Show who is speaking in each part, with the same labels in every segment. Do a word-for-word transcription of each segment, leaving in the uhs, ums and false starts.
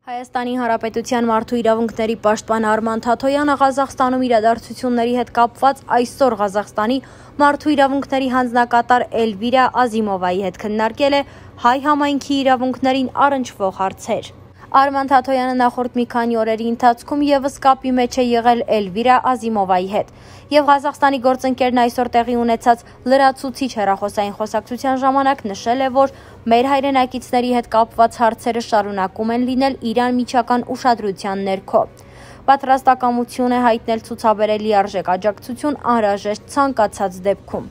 Speaker 1: Հայաստանի Հանրապետության մարդու իրավունքների պաշտպան Արման Թաթոյանը Ղազախստանում իրադարձությունների հետ կապված այսօր Ղազախստանի մարդու իրավունքների հանձնակատար Էլվիրա Ազիմովայի հետ քննարկել է հայ համայնքի իրավունքներին առնչվող հարցեր։ Արման Թաթոյանը նախորդ մի քանի օրերի ընթացքում ևս կապի մեջ է եղել Էլվիրա Ազիմովայի հետ եւ Ղազախստանի գործընկերն այսօր տեղի ունեցած լրացուցիչ հեռախոսային խոսակցության ժամանակ նշել է, որ մեր հայրենակիցների հետ կապված հարցերը շարունակում են լինել Իրան միջական ուշադրության ներքո։ Պատրաստակամություն է հայտնել ցուցաբերել լիարժեք աջակցություն անհրաժեշտ ցանկացած դեպքում։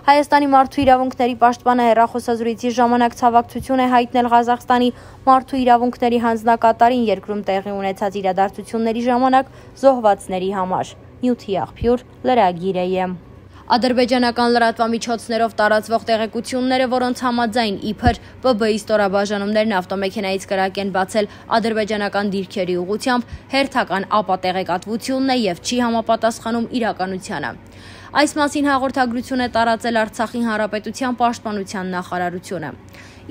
Speaker 1: Հայաստանի մարդու իրավունքների պաշտպանը հեռախոսազրույցի ժամանակ ցավակցություն է հայտնել Ղազախստանի մարդու իրավունքների հանձնակատարին երկրում տեղի ունեցած իրադարձությունների ժամանակ զոհվածների համար։ Նյութի աղբյուր լրագիր է։ Ադրբեջանական լրատվամիջոցներով տարածվող տեղեկությունները, որոնց համաձայն իբր Պ B-ի ստորաբաժանումներն ավտոմեքենայից կրակ են բացել ադրբեջանական դիրքերի ուղղությամբ, հերթական ապատեղեկատվությունն է եւ չի համապատասխանում իրականությանը։ Այս մասին հաղորդագրություն է տարածել Արցախի Հանրապետության պաշտպանության նախարարությունը։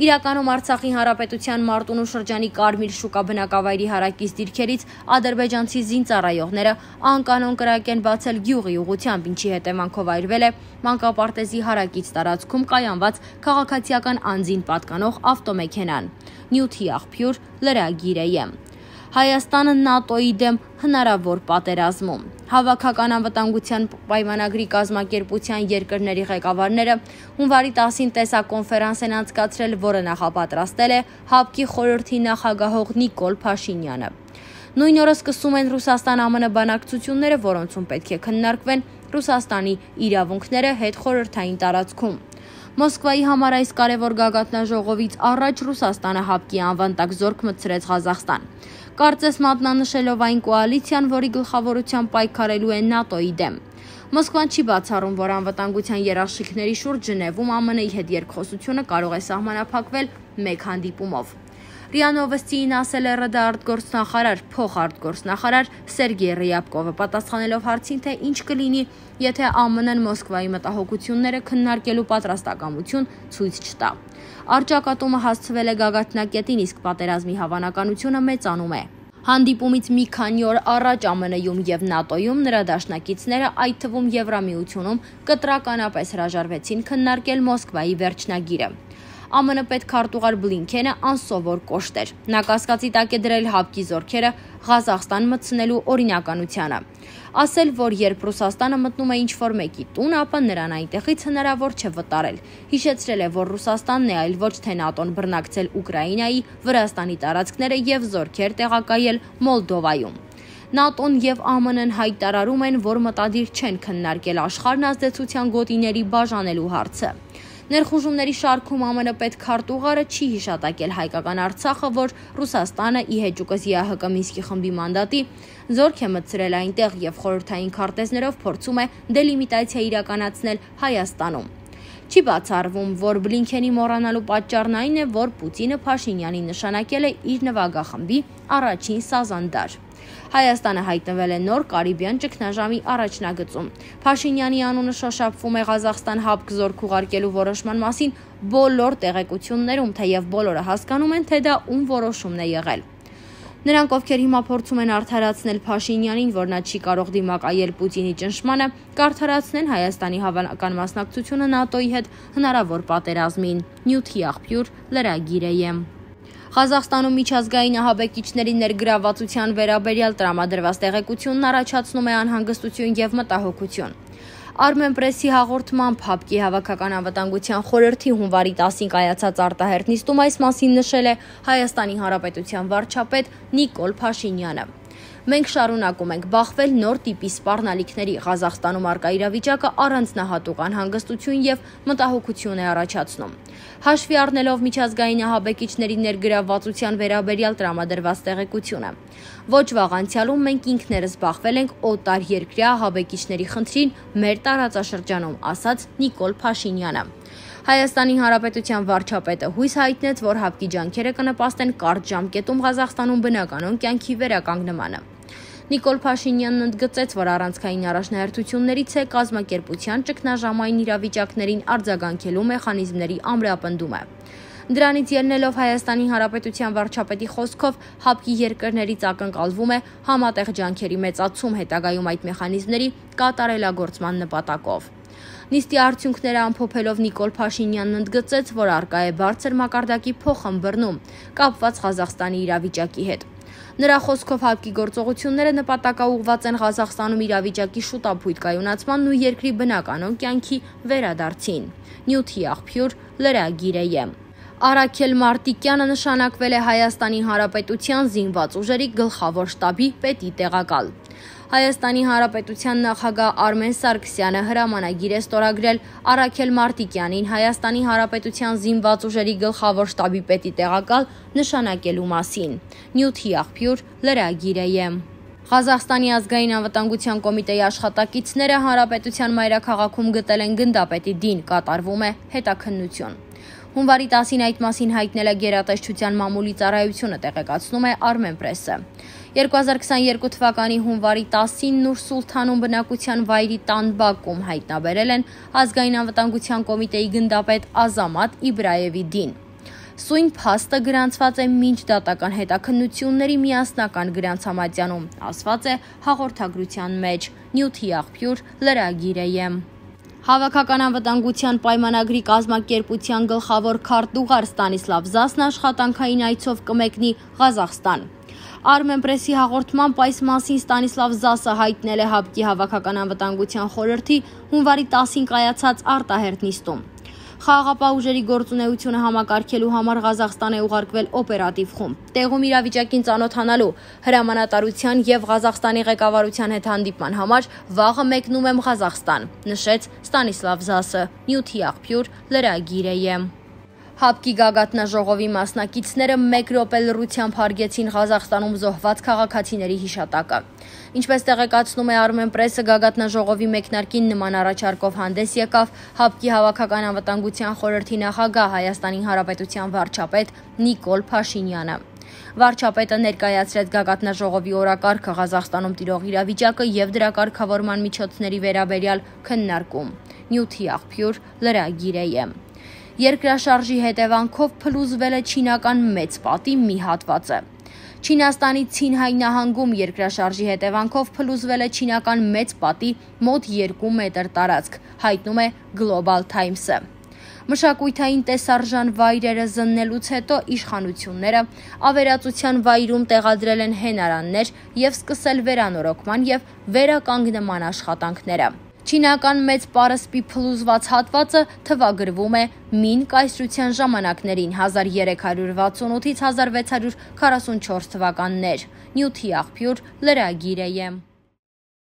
Speaker 1: Իրականում Արցախի Հանրապետության Մարտունու շրջանի Կարմիր շուկա բնակավայրի հարակից դիրքերից ադրբեջանցի զինծառայողները անկանոն կրակ են բացել գյուղի ուղղությամբ, ինչի հետևանքով այրվել է մանկապարտեզի հարակից տարածքում կայանված քաղաքացիական անձին պատկանող ավտոմեքենան։ Նյութի աղբյուր լրագիր է։ Հայաստանը ՆԱՏՕ-ի դեմ հնարավոր պատերազմում։ Հավաքական անվտանգության պայմանագրի կազմակերպության երկրների ղեկավարները հունվարի տասին տեսակոնֆերանս են անցկացրել, որը նախապատրաստել է ՀԱՊԿ-ի խորհրդի նախագահող Նիկոլ Փաշինյանը։ Նույն օրը սկսում են Ռուսաստան-Ա M N բանակցությունները, որոնցում պետք է քննարկվեն Ռուսաստանի իրավունքները հետխորհրդային տարածքում։ Մոսկվայի համար այս կարևոր գագաթնաժողովից առաջ Ռուսաստանը ՀԱՊԿ-ի անվան տակ զորք մտցրեց Ղազախստան։ Կարծես մատնանշելով այն կոալիցիան, որի գլխավորությամբ պայքարելու է ՆԱՏՕ-ի դեմ։ Մոսկվան չի բացառում, որ անվտանգության երաշխիքների շուրջ Ժնևում Ա M N-ի հետ երկխոսությունը կարող է սահմանափակվել մեկ հանդիպումով։ ՌԻԱ Նովոստիին ասել է ՌԴ արտգործնախարար, փոխարտգործնախարար Սերգեյ Ռյաբկովը, պատասխանելով հարցին, թե ինչ կլինի, եթե Ա M N-ն Մոսկվայի մտահոգությունները քննարկելու պատրաստակամություն ցույց չտա։ Առճակատումը հասցվել է գագաթնակետին, իսկ պատերազմի հավանականությունը մեծանում է։ Հանդիպումից մի քանի օր առաջ Ա M N-ում եւ ՆԱՏՕ-ում նրա դաշնակիցները, այդ թվում Եվրամիությունում, կտրականապես հրաժարվեցին քննարկել Մոսկվայի վերջնագիրը։ Ա M N պետքարտուղար Բլինքենը անսովոր կոշտ էր։ Նա կասկածի տակ է դրել ՀԱՊԿ-ի զորքերը Ղազախստան մտցնելու օրինականությանը։ Ասել, որ երբ Ռուսաստանը մտնում է ինչ-որ մեկի տուն, ապա նրան այնտեղից հնարավոր չէ վտարել։ Հիշեցրել է, որ Ռուսաստանն է, այլ ոչ թե ՆԱՏՕ-ն բռնակցել Ուկրաինայի, Վրաստանի տարածքները եւ զորքեր տեղակայել Մոլդովայում։ ՆԱՏՕ-ն եւ Ա M N-ն հայտարարում են, որ մտադիր չեն քննարկել աշխարհն ազդեցության գոտիների բաժանելու հարցը։ Ներխուժումների շարքում Ա M N պետքարտուղարը չի հիշատակել հայկական Արցախը, որ Ռուսաստանը ի հեճուկս Ե Ահ Կ Մինսկի խմբի մանդատի զորք է մտցրել այնտեղ եւ խորհրդային քարտեզներով փորձում է դելիմիտացիա իրականացնել Հայաստանում։ Չի բացառվում, որ Բլինքենի մոռանալու պատճառն այն է, որ Պուտինը Փաշինյանին նշանակել է իր նվագախմբի առաջին սազանդար։ Հայաստանը հայտնվել է նոր Կարիբյան ճգնաժամի առաջնագծում։ Փաշինյանի անունը շոշափվում է Ղազախստան ՀԱՊԿ զորք ուղարկելու որոշման մասին բոլոր տեղեկություններում, թեև բոլորը հասկանում են, թե դա ում որոշումն է եղել։ Նրանք, ովքեր հիմա փորձում են արդարացնել Փաշինյանին, որ նա չի կարող դիմակայել Պուտինի ճնշմանը, կարդարացնեն Հայաստանի հավանական մասնակցությունը ՆԱՏՕ-ի հետ հնարավոր պատերազմին։ Նյութի աղբյուր լրագիր է։ Ղազախստանում միջազգային ահաբեկիչների ներգրավվածության վերաբերյալ տրամադրված տեղեկությունն առաջացնում է անհանգստություն եւ մտահոգություն։ Armenpress-ի հաղորդմամբ ՀԱՊԿ-ի հավաքական անվտանգության խորհրդի հունվարի տասին կայացած արտահերթ նիստում այս մասին նշել է Հայաստանի Հանրապետության վարչապետ Նիկոլ Փաշինյանը։ Մենք շարունակում ենք բախվել նոր տիպի սպառնալիքների։ Ղազախստանում արկա իրավիճակը առանձնահատուկ անհանգստություն եւ մտահոգություն է առաջացնում։ Հաշվի առնելով միջազգային ահաբեկիչների ներգրավվածության վերաբերյալ տրամադրված տեղեկությունը։ Ոչ վաղ անցյալում մենք ինքներս բախվել ենք օտար երկրյա ահաբեկիչների խնդրին մեր տարածաշրջանում, ասաց Նիկոլ Փաշինյանը։ Հայաստանի Հանրապետության վարչապետը հույս հայտնեց, որ ՀԱՊԿ-ի ջանքերը կնպաստեն կարճ ժամկետում Ղազախստանում բնականon կյանքի վերականգնմանը։ Նիկոլ Փաշինյանն ընդգծեց, որ առանցքային առաջնահերթություններից է կազմակերպության ճգնաժամային իրավիճակներին արձագանքելու մեխանիզմների ամրապնդումը։ Դրանից ելնելով Հայաստանի Հանրապետության վարչապետի խոսքով ՀԱՊԿ-ի երկրներից ակնկալվում է համատեղ ջանքերի մեծացում հետագայում այդ մեխանիզմների կատարելագործման նպատակով։ Նիստի արդյունքները ամփոփելով Նիկոլ Փաշինյանն ընդգծեց, որ առկա է բարձր մակարդակի փոխըմբռնում կապված Ղազախստանի իրավիճակի հետ։ Նրա խոսքով ՀԱՊԿ-ի գործողությունները նպատակաուղղված են Ղազախստանում իրավիճակի շուտապույտ կայունացմանն ու երկրի բնականոն կյանքի վերադարձին։ Նյութի աղբյուր լրագիր է։ Արաքել Մարտիկյանը նշանակվել է Հայաստանի Հանրապետության զինված ուժերի գլխավոր շտաբի պետի տեղակալ։ Հայաստանի Հանրապետության նախագահ Արմեն Սարգսյանը հրամանագիր է ստորագրել Արաքել Մարտիկյանին Հայաստանի Հանրապետության զինված ուժերի գլխավոր շտաբի պետի տեղակալ նշանակելու մասին։ Նյութի աղբյուր լրագիր է։ Ղազախստանի ազգային անվտանգության կոմիտեի աշխատակիցները հանրապետության մայրաքաղաքում գտել են գնդապետի դին, կատարվում է հետաքննություն։ Հունվարի տասին այդ մասին հայտնել է գերատեսչության մամուլի ծառայությունը, տեղեկացնում է Armenpress-ը։ երկու հազար քսաներկու թվականի հունվարի տասին Նուր Սուլթանում բնակության վայրի տան բակում հայտնաբերել են ազգային անվտանգության կոմիտեի գնդապետ Ազամատ Իբրայևի դին։ Սույն փաստը գրանցված է մինչ դատական հետաքննությունների միասնական գրանցամատյանում, ասված է հաղորդագրության մեջ։ Նյութի աղբյուր լրագիր է։ Հավաքական անվտանգության պայմանագրի կազմակերպության գլխավոր քարտուղար Ստանիսլավ Զասն աշխատանքային այցով կմեկնի Ղազախստան։ Armenpress-ի հաղորդմամբ այս մասին Ստանիսլավ Զասը հայտնել է ՀԱՊԿ-ի հավաքական անվտանգության խորհրդի հունվարի տասին կայացած արտահերթ նիստում։ Խաղաղապահ ուժերի գործունեությունը համակարգելու համար Ղազախստան է ուղարկվել օպերատիվ խումբ։ Տեղում իրավիճակին ծանոթանալու, հրամանատարության եւ Ղազախստանի ղեկավարության հետ հանդիպման համար վաղը մեկնում եմ Ղազախստան, նշեց Ստանիսլավ Զասը։ Նյութի աղբյուր լրագիր է։ ՀԱՊԿ-ի գագաթնաժողովի մասնակիցները մեկ րոպե լռությամբ հարգեցին Ղազախստանում զոհված քաղաքացիների հիշատակը։ Ինչպես տեղեկացնում է Armenpress-ը, գագաթնաժողովի մեկնարկին նման առաջարկով հանդես եկավ ՀԱՊԿ-ի հավաքական անվտանգության խորհրդի նախագահ Հայաստանի Հանրապետության վարչապետ Նիկոլ Փաշինյանը։ Վարչապետը ներկայացրեց գագաթնաժողովի օրակարգը, Ղազախստանում տիրող իրավիճակը եւ դրա կարգավորման միջոցների վերաբերյալ քննարկում։ Նյութի աղբյուր լրագիր է։ Երկրաշարժի հետևանքով փլուզվել է չինական մեծ պատի մի հատվածը։ Չինաստանի Ցինհայ նահանգում երկրաշարժի հետևանքով փլուզվել է չինական մեծ պատի մոտ երկու մետր տարածք, հայտնում է Global Times-ը։ Մշակութային տեսարժան վայրերը զննելուց հետո իշխանությունները ավերածության վայրում տեղադրել են հենարաններ եւ սկսել վերանորոգման եւ վերականգնման աշխատանքները։ Չինական մեծ պարսպի փլուզված հատվածը թվագրվում է մին կայսրության ժամանակներին հազար երեք հարյուր վաթսունութից հազար վեց հարյուր քառասունչորս թվականներ։ Նյութի աղբյուր լրագիր է։